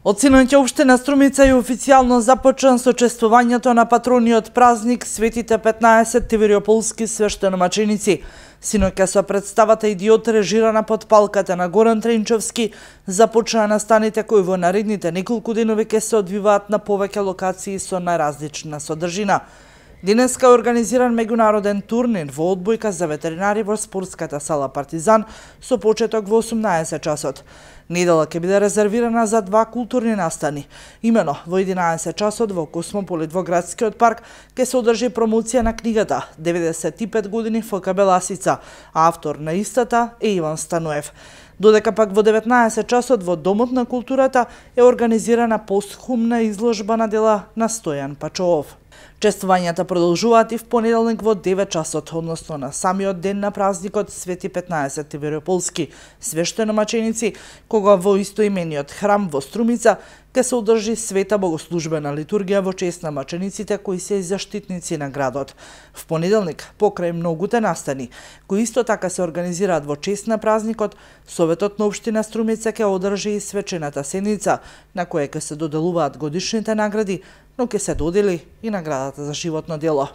Од синоќа општина Струмица е официјално започна со чествувањето на патрониот празник Светите 15 тивериополски свештеномаченици. Синоќа со представата Идиот, режирана под палката на Горан Тренчовски, започнаа настаните кои во наредните неколку денови ќе се одвиваат на повеќе локации со најразлична содржина. Денеска е организиран меѓународен турнир во одбојка за ветеринари во спортската сала Партизан со почеток во 18 часот. Недела ќе биде резервирана за два културни настани. Имено во 11 часот во Космополит во градскиот парк ќе се одржи промоција на книгата 95 години ФК Беласица, а автор на истата е Иван Стануев. Додека пак во 19 часот во Домот на културата е организирана постхумна изложба на дела на Стојан Пачоов. Чествувањата продолжуваат и в понеделник во 9 часот, односно на самиот ден на празникот Свети 15 тивериополски свештеномаченици, кога во истоимениот храм во Струмица ќе се одржи света богослужбена литургија во чест на мачениците кои се заштитници на градот. В понеделник, покрај многуте настани, кои исто така се организираат во чест на празникот, Советот на општина Струмица ќе одржи и свечената седница, на која ќе се доделуваат годишните награди, но ќе се додели и наградата за животно дело.